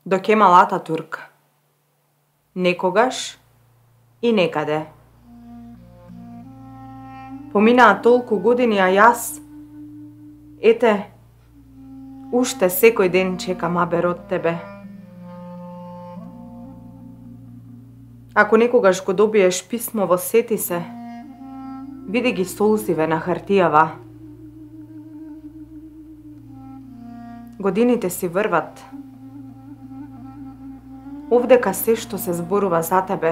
До Кемал Ататурк. Некогаш и некаде. Поминаа толку години, а јас, ете, уште секој ден чекам абер од тебе. Ако некогаш го добиеш писмово, сети се, види ги солзиве на хартијава. Годините си врват. Овдека се што се зборува за тебе,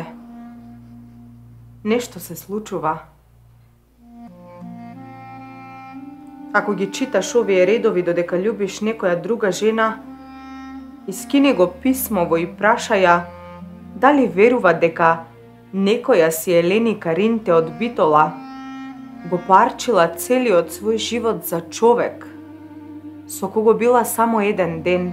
нешто се случува. Ако ги читаш овие редови додека љубиш некоја друга жена, искини го писмово и прашаја дали верува дека некоја си Елени Каринте од Битола го парчила целиот свој живот за човек со кого била само еден ден.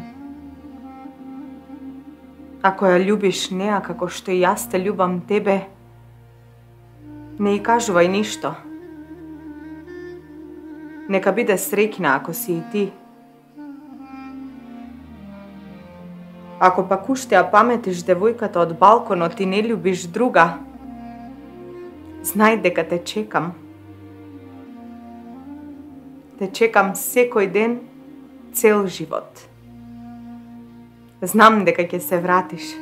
Ако ја љубиш неа како што и јас те љубам тебе, не и кажувај ништо. Нека биде среќна ако си и ти. Ако пак уште ја паметиш девојката од балконот и не љубиш друга, знај дека те чекам. Те чекам секој ден, цел живот. Знам дека ќе се вратиш.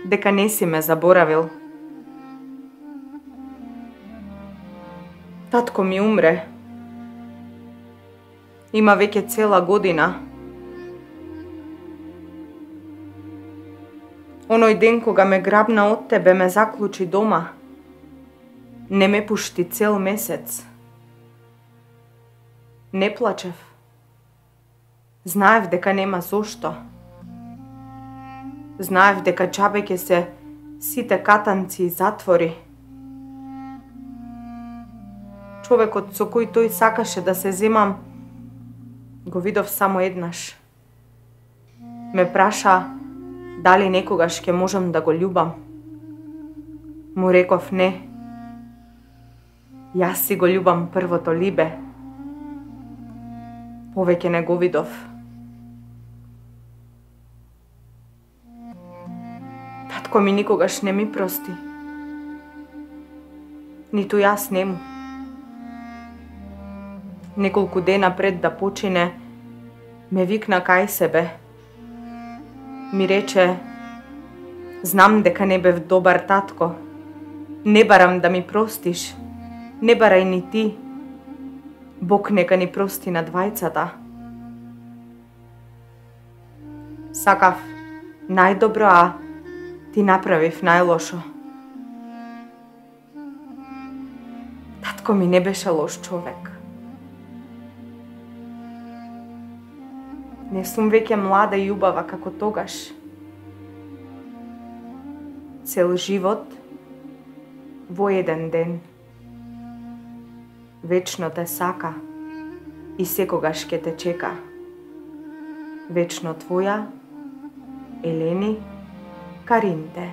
Дека не си ме заборавил. Татко ми умре. Има веќе цела година. Оној ден кога ме грабна од тебе, ме заклучи дома. Не ме пушти цел месец. Не плачев. Знаев дека нема зошто. Знаев дека џабе ќе се сите катанци и затвори. Човекот со кој тој сакаше да се земам, го видов само еднаш. Ме праша дали некогаш ќе можам да го љубам. Му реков не. Јас си го љубам првото либе. Повеќе не го видов. Татко ми никогаш не ми прости. Ниту јас нему. Неколку дена пред да почине, ме викна кај себе. Ми рече, знам дека не бев добар татко. Не барам да ми простиш. Не барај ни ти. Бог нека ни прости на двајцата. Сакав најдобро, а ти направив најлошо. Татко ми не беше лош човек. Не сум веќе млада и убава како тогаш. Цел живот во еден ден. Вечно те сака и секогаш ќе те чека. Вечно твоја, Елени Каринте.